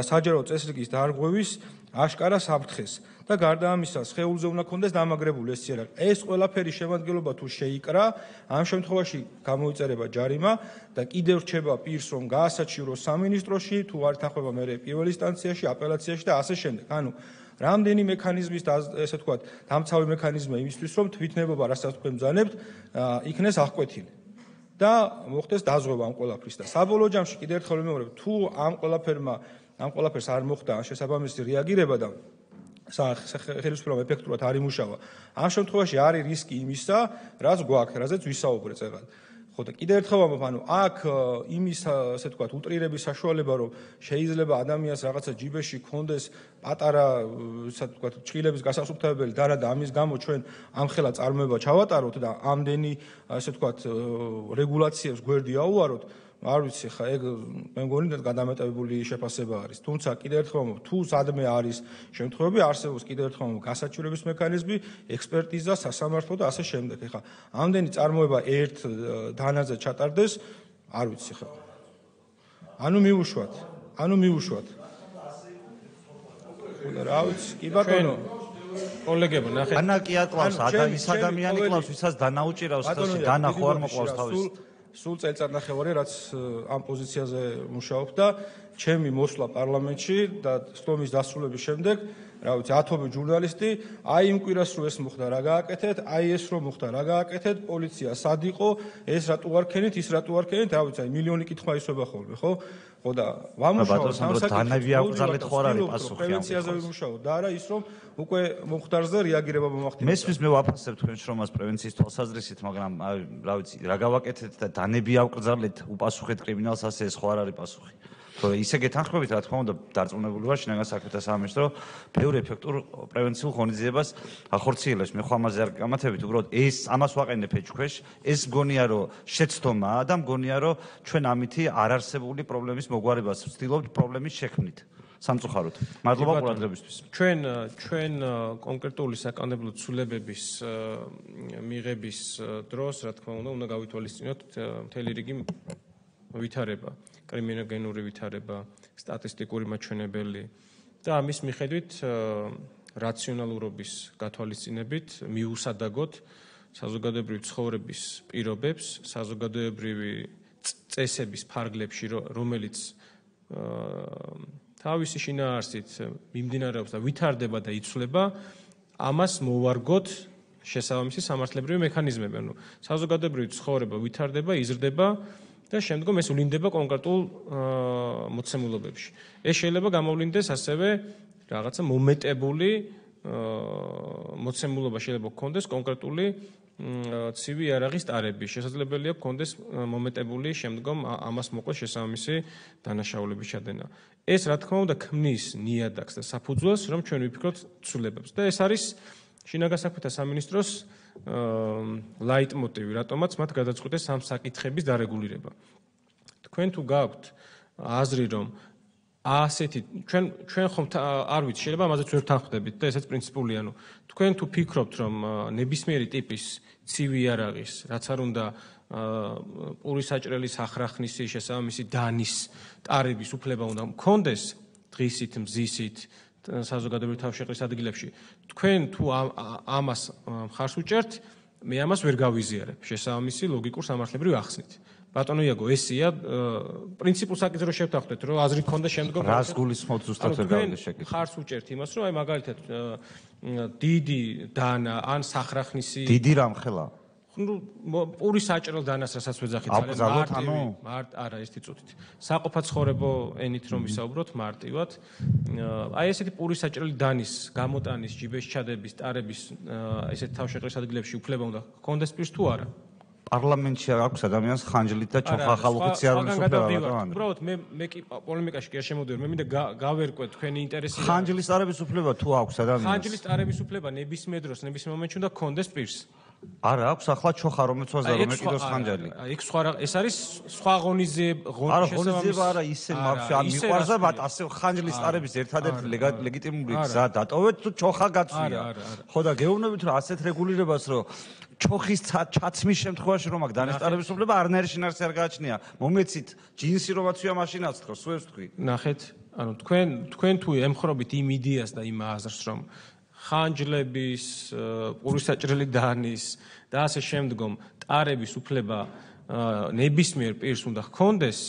B: საჯარო წესრიგის დარღვევის აშკარა საფრთხეს და გარდა ამისა, სხეულზე უნდა ქონდეს დამაგრებული ეს იარაღი. ეს ყველაფერი შემადგენლობა თუ შეიკრა, ამ შემთხვევაში გამოიწერება ჯარიმა და კიდევ რჩება პირს, რომ გაასაჩივროს სამინისტროში, თუ არ ეთანხმება მერე პირველ ინსტანციაში, აპელაციაში და ასე შემდეგ. ანუ რამდენი მექანიზმის ესე ვთქვათ, დამცავი მექანიზმია იმისთვის, რომ თვითნებობა, რასაც თქვენ ბრძანებთ, იქნეს აღკვეთილი. და მოხდეს დაზღვევა ამ ყველაფრის და საბოლოო ჯამში კიდევ ერთხელ ვიმეორებ, თუ ამ ყველაფერს არ მოხდა შესაბამისი რეაგირება და ხელისუფლებამ ეფექტურად არ იმუშავა, ამ შემთხვევაში არის რისკი იმისა, რაც გვაქვს, რაზეც ვისაუბრეთ წეგან. ხო და კიდევ ერთხელ ვამბობ, აქ იმის ასე ვთქვათ, უტრირების საშუალება, რომ შეიძლება ადამიანს რაღაცა ჯიბეში კონდეს პატარა, ასე ვთქვათ, ჭხილების გასასუფთავებელი და რა და ამის გამო ჩვენ ამხელა წარმოება ჩავატაროთ და ამდენი, ასე ვთქვათ, რეგულაციებს გვერდი აუაროთ, არ ვიცი, ხა ეგ მე მგონი გადამეტებული შეფასება არის. თუმცა კიდევ ერთხელ ვამბობ, თუ სადმე არის შემთხვევები, არსებობს კიდევ ერთხელ ვამბობ, გასაჩივრების მექანიზმი, ექსპერტიზა, სასამართლო და ასე შემდეგ. ხა ამდენი წარმოება ერთ დანაზე ჩატარდეს, არ ვიცი ხა. ანუ მივუშვათ. რა ვიცი, კი ბატონო.
D: კოლეგებო, ნახეთ.
A: ანა კი აკლავს, ის ადამიანი კლავს, ვისაც დანაუჭირავს, დანა ხო არ მოყავს თავის.
B: სულ წელიწადნახევარი, რაც ამ პოზიციაზე მუშაობ და ჩემი მოსვლა პარლამენტში და სტომის დასრულების შემდეგ, რა ვიცი, ათობით ჟურნალისტი, აი იმ კვირას რო ეს მოხდა, რა გააკეთეთ, აი ეს რო მოხდა, რა გააკეთეთ, პოლიცია სად იყო, ეს რატო არ ქენით, ის რატო არ ქენით, რა ვიცი, აი მილიონი კითხვა ისვება ხოლმე, ხო? ხო და ვამუშაოთ
A: დამსაკითხებს, დანავიაკრძალეთ ხო არ არის პასუხი ამ
B: პრევენციაზე ვიმუშაოთ და არა ის რომ უკვე მომხდარზე რეაგირება მომახდინოს.
A: მესმის მე ვაფასებ თქვენ შრომას პრევენციის თვალსაზრისით, მაგრამ რა ვიცი, რა გავაკეთეთ და დანები ავკრძალეთ, უპასუხეთ კრიმინალს, ასე ეს ხო არ არის პასუხი. ხო ისე გეთანხმებით, რა თქმა უნდა, დარწმუნებული ვარ შინაგან საქმეთა სამინისტრო ბევრ ეფექტურ პრევენციულ ღონისძიებას ახორციელებს. მე ხო ამაზე არ გამათებით, უბრალოდ ეს ამას ვაყენებ ეჭქვეშ, ეს მგონია რომ შეცდომაა და მგონია რომ ჩვენ ამითი არარსებული პრობლემის მოგვარებას ვცდილობთ პრობლემის შექმნით. სამწუხაროდ. მადლობა ყურადღებისთვის.
D: ჩვენ კონკრეტული საკანონმდებლო ცვლილებების მიღების დროს, რა თქმა უნდა გავითვალისწინოთ მთელი რიგი ვითარება, კრიმინოგენური ვითარება, სტატისტიკური მაჩვენებელი და ამის მიხედვით რაციონალურობის გათვალისწინებით მიუსადაგოთ საზოგადოებრივი ცხოვრების პირობებს, საზოგადოებრივი წესების ფარგლებში, რომელიც თავისი შინაარსით მიმდინარეობს და ვითარდება და იცვლება, ამას მოვარგოთ შესაბამისი სამართლებრივი მექანიზმები. ანუ საზოგადოებრივი ცხოვრება ვითარდება, იზრდება და შემდგომ ეს ვლინდება კონკრეტულ მოცემულობებში. ეს შეიძლება გამოვლინდეს ასევე რაღაცა მომეტებული მოცემულობა შეიძლება გქონდეს კონკრეტული ცივი იარაღის ტარების. შესაძლებელია გქონდეს მომეტებული შემდგომ ამას მოყვა შესაბამისი დანაშაულების ჩადენა. ეს რა თქმა უნდა ქმნის ნიადაგს და საფუძველს, რომ ჩვენ ვიფიქროთ ცვლილებებს. და ეს არის შინაგან საქმეთა სამინისტროს ლაიტმოტივი, რატომაც მათ გადაწყვიტეს ამ საკითხების დარეგულირება. თქვენ თუ გაქვთ აზრი, რომ ასეთი ჩვენ ხომ არ ვიცი, შეიძლება ამაზე ვერ თანხმდებით და ესეც პრინციპულია, ანუ თქვენ თუ ფიქრობთ, რომ ნებისმიერი ტიპის ცივი იარაღის, რაც არ უნდა პური საჭრელის ახრახნისი, შესაბამისი დანის, ტარების უფლება უნდა მქონდეს დღისით, მზისით საზოგადოებრივი თავშეყრის ადგილებში, თქვენ თუ ამას მხარს უჭერთ, მე ამას ვერ გავიზიარებ შესაბამისი ლოგიკურ სამართლებრივ ახსნით. ბატონო იაგო, ესია პრინციპულ საკითხზე რომ შევთანხმდეთ, რომ აზრი გქონდა შემდგომ
A: რას გულისხმობთ ზუსტად ვერ გავიგე შეკითხვა.
D: მხარს უჭერთ იმას, რომ აი მაგალითად დიდი დანა ან სახრახნისი
A: დიდი რამხელა
D: ნუ პური საჭრელ დანას რასაც ვეძახით ძალიან არა ერთი წუთით საყოფაცხოვრებო ენით რომ ვისაუბროთ მარტივად აი ესეთი პური საჭრელი დანის გამოტანის ჯიბეში ჩადების ტარების ესეთ თავშეყრის ადგილებში უფლება უნდა ჰქონდეს პირს თუ არა
A: პარლამენტში აქვს ადამიანს ხანჯლით და ჩოხახალუხით არ უნდა უფლება
D: უბრალოდ მე კი პოლემიკაში კი არ შემოვიდე მე მინდა გავერკვე თქვენი ინტერესი
A: ხანჯლის ტარების უფლება თუ აქვს ადამიანს
D: ხანჯლის ტარების უფლება ნებისმიერ დროს ნებისმიერ მომენტში უნდა ჰქონდეს პირს
A: არა აქვს ახლა ჩოხა რომელიც ვაზარ რომ ეკიდოს ხანჯალი
D: ეგ სხვა ეს არის სხვა
A: ღონისძიება არა ისე მარშა მიყვარზე მათ ასე ხანჯლის ტარების ერთადერთი ლეგიტიმური გზა დატოვეთ თუ ჩოხა გაცვია ხო და გეუბნებით რომ ასეთ რეგულირებას რომ ჩოხის ჩაცმის შემთხვევაში რომ აქ დანაშაულების უფლება არნაირი შინაარსი არ გააჩნია მომეცით ჯინსი რომ აცვია მაშინაც თქო სუებს თქვი
D: ნახეთ ანუ თქვენ თუ ემხრობით იმ იდეას და იმ აზრს რომ ხანჯლების პური საჭრელი დანის და ასე შემდგომ ტარების უფლება ნებისმიერ პირს უნდა ჰქონდეს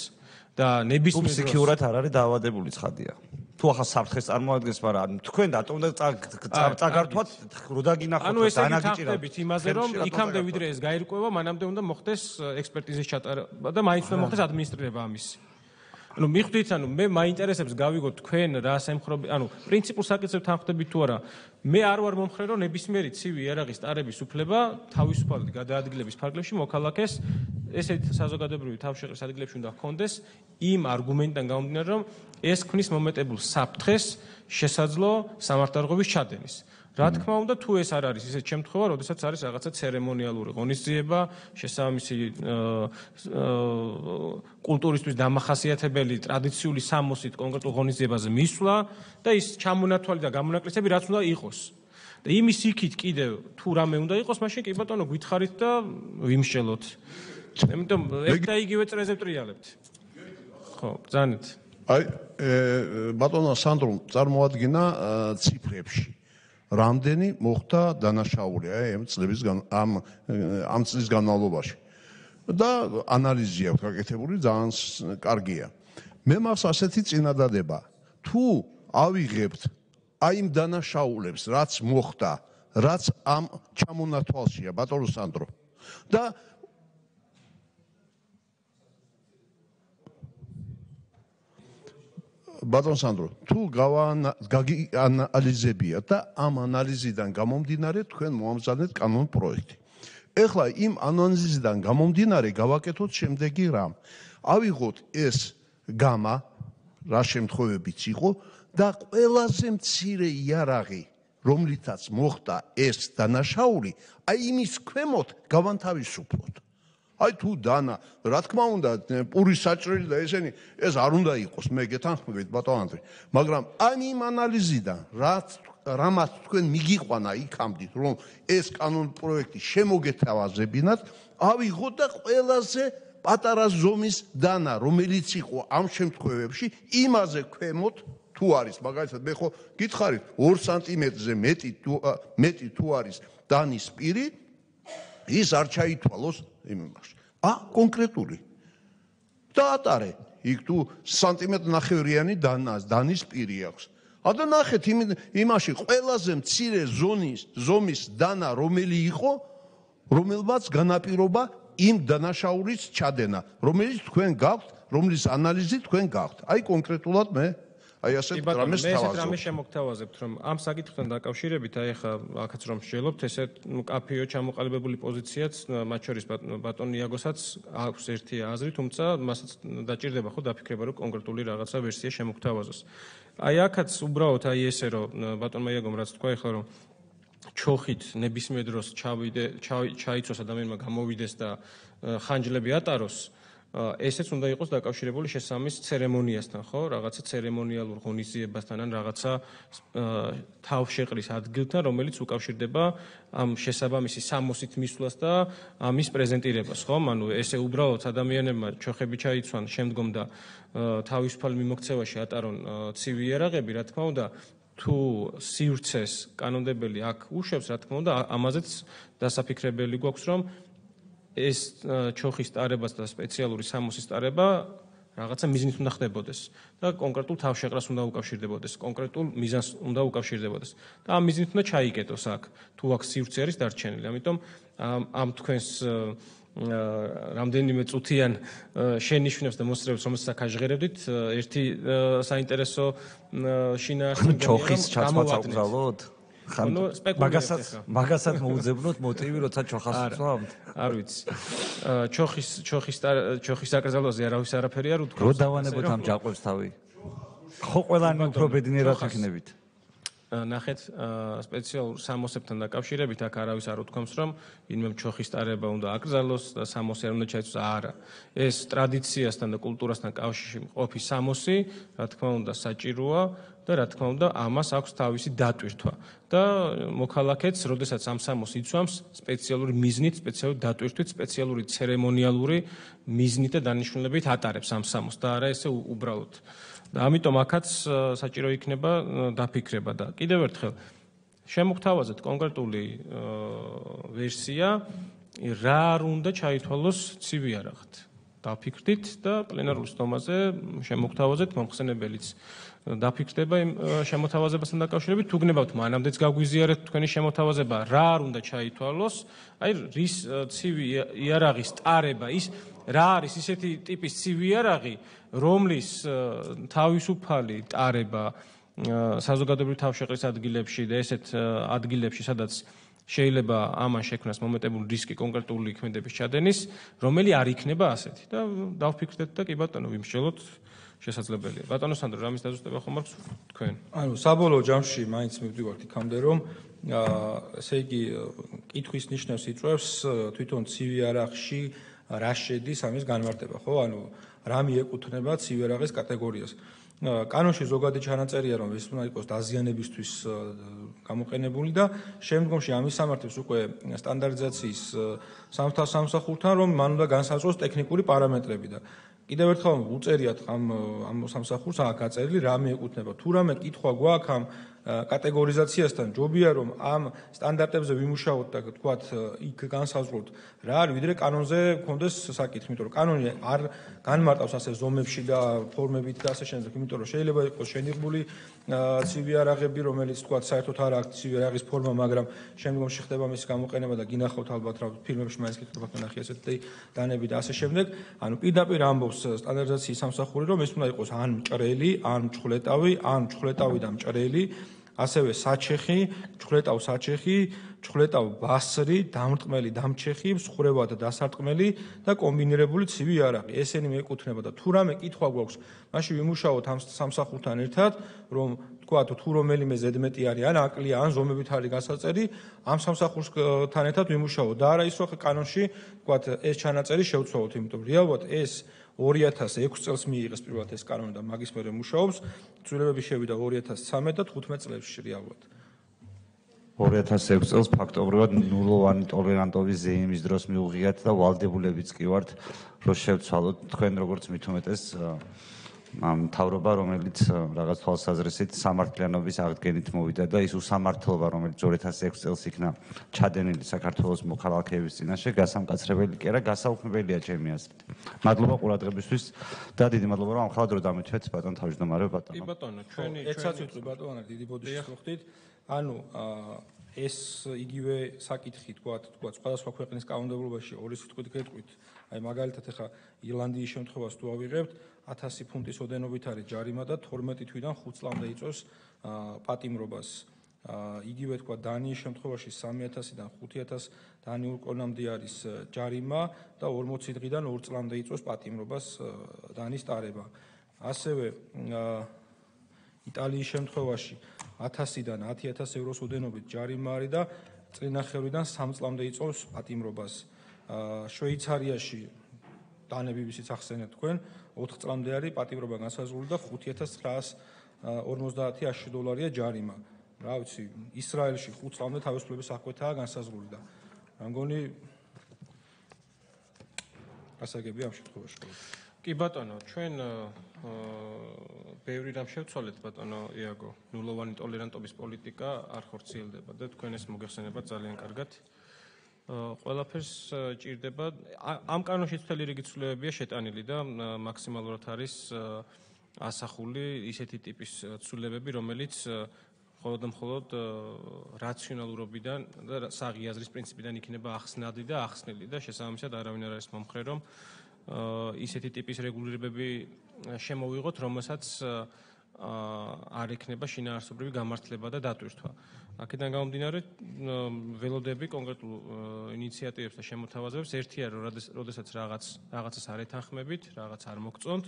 D: და ნებისმიერ დროს
A: ფსიქიურად არ არის დაავადებული ცხადია თუ ახლა საფრთხეს წარმოადგენს, მაგრამ თქვენ დატომ და წაგართვათ რო დაგინახოთ
D: ანუ ესე გითხრებით იმაზე რომ იქამდე ვიდრე ეს გაირკვევა, მანამდე უნდა მოხდეს ექსპერტიზის ჩატარება და მაინც უნდა მოხდეს ადმინისტრირება ამისი. ანუ მიხვდით, ანუ მე მაინტერესებს გავიგოთ თქვენ რას ემხრობთ, ანუ პრინციპულ საკითხებზე თანხმდებით თუ არა. მე არ ვარ მომხრე რომ ნებისმიერი ცივი იარაღის ტარების უფლება თავისუფალად გადაადგილების ფარგლებში მოქალაქეს ესეთ საზოგადოებრივი თავშეყრის ადგილებში უნდა ჰქონდეს იმ არგუმენტიდან გამომდინარე, რომ ეს ქმნის მომეტებულ საფრთხეს შესაძლო სამართალდაღობის ჩადენის. რა თქმა უნდა, თუ ეს არ არის ისეთ შემთხვევა, როდესაც არის რაღაცა ცერემონიალური ღონისძიება, შესაბამისი კულტურისთვის დამახასიათებელი ტრადიციული სამოსით კონკრეტულ ღონისძიებაზე მისვლა და ის ჩამონათვალი და გამონაკლისები რაც უნდა იყოს. და იმის იქით კიდევ თუ რამე უნდა იყოს, მაშინ კი ბატონო გითხარით და ვიმშელოთ. იმიტომ ერთ და იგივე წრეზე ვტრიალებთ. ხო, ბრძანეთ.
F: აი, ბატონო სანდრო წარმოადგინა ციფრებში. რამდენი მოხდა დანაშაული ამ წლის განმავლობაში. და ანალიზი აქვს გაკეთებული, ძალიან კარგია. მე მაქვს ასეთი წინადადება, თუ ავიღებთ აი იმ დანაშაულებს, რაც მოხდა, რაც ამ ჩამონათვალშია, ბატონო სანდრო. და ბატონ სანდრო, თუ გაანალიზებიათ და ამ ანალიზიდან გამომდინარე თქვენ მოამზადეთ კანონ პროექტი. ეხლა იმ ანალიზიდან გამომდინარე გავაკეთოთ შემდეგი რამ. ავიღოთ ეს გამა, რა შემთხვევებიც იყო და ყველაზე მცირე იარაღი, რომლითაც მოხდა ეს დანაშაული, აი იმის ქვემოთ გავანთავისუფლოთ. აი თუ დანა, რა თქმა უნდა, პური საჭრელი და ესენი ეს არ უნდა იყოს, მე გეთანხმებით ბატონ ანდრე, მაგრამ აი იმ ანალიზიდან რამაც თქვენ მიგიყვანა იქამდით, რომ ეს კანონ პროექტი შემოგეთავაზებინათ, ავიღოთ და ყველაზე პატარა ზომის დანა, რომელიც იყო ამ შემთხვევებში, იმაზე ქვემოთ თუ არის, მაგალითად, მე ხო გითხარით 2 სანტიმეტრზე მეტი თუ არის დანის პირი, ის არ ჩაითვალოს იმაში. კონკრეტული. დაატარე, იქ თუ სანტიმეტრ-ნახევრიანი დანის პირი აქვს. და ნახეთ იმაში ყველაზე მცირე ზომის დანა რომელი იყო, რომელმაც განაპირობა იმ დანაშაულის ჩადენა, რომელიც თქვენ გაქვთ, რომლის ანალიზი თქვენ გაქვთ. აი კონკრეტულად მე აი ასეთ რამეს
D: თავაზობ. მე ესეთ რამეს შემოგთავაზებთ, რომ ამ საკითხთან დაკავშირებით, აი ახლა აქაც რომ შეელობთ, ესეთ კაფეო ჩამოყალიბებული პოზიციაც, მათ შორის ბატონ იაგოსაც აქვს ერთი აზრი, თუმცა მასაც დაჭირდება ხო დაფიქრება, რომ კონკრეტული რაღაცა ვერსია შემოგთავაზოს. აი აქაც უბრალოდ აი ესე რომ ბატონმა იაგომ რაც თქვა ახლა რომ ჩოხით ნებისმიერ დროს ჩაიცოს ადამიანმა გამოვიდეს და ხანჯლები ატაროს, ესეც უნდა იყოს დაკავშირებული შესაბამის ცერემონიასთან, ხო? რაღაცა ცერემონიალურ ღონისძიებასთან ან რაღაცა თავშეყრის ადგილთან, რომელიც უკავშირდება ამ შესაბამისი სამოსით მისვლას და ამის პრეზენტირებას, ხო? ანუ ესე უბრალოდ ადამიანებმა ჩოხები ჩაიცვან, შემდგომ და თავისუფალ მიმოქცევაში ატარონ ცივი იარაღები, რა თქმა უნდა, თუ სივრცეს კანონმდებელი აქ უშვებს, რა თქმა უნდა, ამაზეც დასაფიქრებელი გვაქვს, რომ ეს ჩოხის ტარებას და სპეციალური სამოსის ტარება რაღაცა მიზნით უნდა ხდებოდეს და კონკრეტულ თავშეყრას უნდა უკავშირდებოდეს, კონკრეტულ მიზანს უნდა უკავშირდებოდეს. და ამ მიზნით უნდა ჩაიკეტოს აქ, თუ აქ სივრცე არის დარჩენილი. ამიტომ ამ თქვენს რამდენიმე წუთიან შენიშვნებს და მოსწრებს, რომელსაც ახაჟღერებდით, ერთი საინტერესო შინაარსი
A: ჩოხის ჩაცვაც აკრძალოთ? მაგასაც მოუძებნოთ მოტივი, როცა ჩოხას ვწვავთ?
D: არ ვიცი. ჩოხის აკრძალვაზე არავის არაფერი არ უთქვამს.
A: რო დავანებოთ ამ ჯაყვებს თავი? ხო ყველანი უფრო ბედნიერად იქნებით.
D: ნახეთ, სპეციალურ სამოსებთან დაკავშირებით აქ არავის არ უთქვამს, რომ ვინმე ჩოხის ტარება უნდა აკრძალოს და სამოსი არ უნდა ჩაიცვას. არა. ეს ტრადიციასთან და კულტურასთან კავშირში მყოფი სამოსი, რა თქმა უნდა, საჭიროა და რა თქმა უნდა, ამას აქვს თავისი დატვირთვა. და მოქალაქეც, როდესაც ამ სამოსს იცვამს, სპეციალური მიზნით, სპეციალური დატვირთვით, სპეციალური ცერემონიალური მიზნით და დანიშნულებით ატარებს ამ სამოსს და არა ესე უბრალოდ. და ამიტომ აქაც საჭირო იქნება დაფიქრება და კიდევ ერთხელ შემოგთავაზეთ კონკრეტული ვერსია, რა არ უნდა ჩაითვალოს ცივი იარაღით. დაფიქრდით და პლენარულ სტომაზე შემოგთავაზეთ მომხსენებელიც დაფიქრდება იმ შემოთავაზებასთან დაკავშირებით, თუ გნებავთ მანამდეც გაგვიზიარეთ თქვენი შემოთავაზება, რა არ უნდა ჩაითვალოს, აი რის ცივი იარაღის ტარება, ის რა არის ისეთი ტიპის ცივი იარაღი, რომლის თავისუფალი ტარება საზოგადოებრივი თავშეყრის ადგილებში და ესეთ ადგილებში, სადაც შეიძლება ამან შექმნას მომენტებული რისკი კონკრეტული ქმედების ჩადენის, რომელი არ იქნება ასეთი და დავფიქრდეთ და კი ბატონო ვიმსჯელოთ შესაძლებელია. ბატონო სანდრო, რამის დაზუსტება ხომ აქვს თქვენ?
B: ანუ საბოლოო ჯამში მაინც მივდივართ იქამდე, რომ ესე იგი კითხვის ნიშნავს იწვევს თვითონ ცივი არახში რა შედის ამის განმარტება, ხო? ანუ რა მიეკუთვნება ცივი არაღის კატეგორიას. კანონში ზოგადი ჩანაწერია, რომ ეს უნდა იყოს დაზიანებისთვის გამოყენებული და შემდგომში ამის სამართლებს უკვე სტანდარტიზაციის სამსახურთან, რომ მან უნდა განსაზღვროს ტექნიკური პარამეტრები და კიდევ ერთხელ უწერიათ ამ სამსახურს აქ გაწერილი რა მიეკუთვნება. თუ რამე კითხვა გვაქვს ამ კატეგორიზაციასთან, ჯობია რომ ამ სტანდარტებზე ვიმუშაოთ და თქვათ იქ განსაზღვროთ რა არის, ვიდრე კანონზე გქონდეს საკითხი, იმიტომ რომ კანონი არ განმარტავს ასე ზომებში და ფორმებით და ასე შემდეგ, იმიტომ რომ შეიძლება იყოს შენიღბული ცივი არაღები, რომელიც თქვათ საერთოდ არ აქვს ცივი არაღის ფორმა, მაგრამ შემდგომში ხდება მის გამოყენება და გინახავთ ალბათ რა ფილმებში მაინც კითხვა ნახე ასეთი დანები და ასე შემდეგ. ანუ პირდაპირ ამბობს სტანდარტიზაციის სამსახური, რომ ეს უნდა იყოს ან მჭრელი, ან მჩხვლეტავი, ან მჩხვლეტავი და მჭრელი, ასევე საჩეხი, მჩხვლეტავ-საჩეხი, მჩხვლეტავ-ბასრი, დამრტყმელი, დამჩეხი, მსხურევა და დასარტყმელი და კომბინირებული ცივი არაღი. ესენი მიეკუთვნება და თუ რამე კითხვა გვაქვს, მაშინ ვიმუშაოთ ამ სამსახურთან ერთად, რომ თქვათ თუ რომელიმე ზედმეტი არის, ან აკლია, ან ზომებით არის გასაწერი, ამ სამსახურთან ერთად ვიმუშაოთ და არა ის რომ კანონში თქვათ ეს ჩანაწერი შევცვალოთ, იმიტომ რომ რეალურად ეს 2006 წელს მიიღეს პირველად ეს კანონი და მაგის მერე მუშაობს. ცვლილებები შევიდა 2013 და 15 წლებში რეალურად.
A: 2006 წელს ფაქტობრივად ნულოვანი ტოლერანტობის ზეიმის დროს მიუღიათ და ვალდებულებიც კი ვართ, რომ შევცვალოთ თქვენ როგორც მithumetes მთავრობა, რომელიც რაღაც თვალსაზრისით სამართლიანობის აღდგენით მოვიდა და ის უსამართლობა, რომელიც 2006 წელს იქნა ჩადენილი საქართველოს მოქალაქეების წინაშე, გასამკაცრებელი კი არა, გასაუქმებელია ჩემი აზრით. მადლობა ყურადღებისთვის და დიდი მადლობა, რომ ამხელად დრო დამეთვეთ ბატონ თავმჯდომარე ბატონო.
D: კი ბატონო, ჩვენი
B: ერთსაც ვიტყვი ბატონო, დიდი ბოდიშს მოხდით. ანუ ეს იგივე საკითხი თქვათ სხვადასხვა ქვეყნის კანონმდებლობაში ორი სიტყვით გეტყვით. აი მაგალითად ახლა ირლანდიის შემთხვევას თუ ავიღებთ 1000 ფუნტის ოდენობით არის ჯარიმა და 12 თვიდან 5 წლამდე იწვევს პატიმრობას. იგივე თქვა დანიის შემთხვევაში 3000-დან 5000 დანიურ კრონამდე არის ჯარიმა და 40 დღიდან 2 წლამდე იწვევს პატიმრობას დანის ტარება. ასევე იტალიის შემთხვევაში 1000-დან 10000 ევროს ოდენობით ჯარიმა არის და წლინახევრიდან 3 წლამდე იწვევს პატიმრობას. შვეიცარიაში დანები ვისიც ახსენეთ თქვენ 4 წლამდე არის პატიმრობა განსაზღვრული და 5950 $1000 ჯარიმა. რა ვიცი, ისრაელში 5 წლამდე თავისუფლების აღკვეთაა განსაზღვრული და რა მგონი გასაგებია ამ შემთხვევაში.
D: კი ბატონო, ჩვენ ბევრი რამ შევცვალეთ ბატონო იაგო. ნულოვანი ტოლერანტობის პოლიტიკა არ ხორციელდება და თქვენ ეს მოგეხსენებათ ძალიან კარგად. ყველაფერს ჭირდება. ამ კანონში მთელი რიგი ცვლილებებია შეტანილი და მაქსიმალურად არის ასახული ისეთი ტიპის ცვლილებები, რომელიც მხოლოდ და მხოლოდ რაციონალურობიდან და საღიაზრის პრინციპიდან იქნება ახსნადი და ახსნილი და შესაბამისად არავინ არ არის მომხრე, რომ ისეთი ტიპის რეგულირებები შემოვიღოთ, რომელსაც არ ექნება შინაარსობრივი გამართლება და დატვირთვა. აქედან გამომდინარე, ველოდები კონკრეტულ ინიციატივებს და შემოთავაზებებს. ერთია, რომ როდესაც რაღაცას არ ეთანხმებით, რაღაც არ მოგწონთ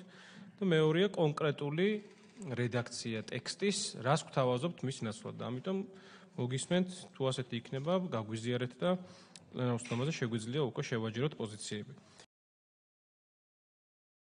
D: და მეორეა კონკრეტული რედაქცია ტექსტის, რას გვთავაზობთ მის ნაცვლად და ამიტომ მოგისმენთ, თუ ასეთი იქნება, გაგვიზიარეთ და პლენარ უსწრაფოზე შეგვიძლია უკვე შევაჯეროთ პოზიციები.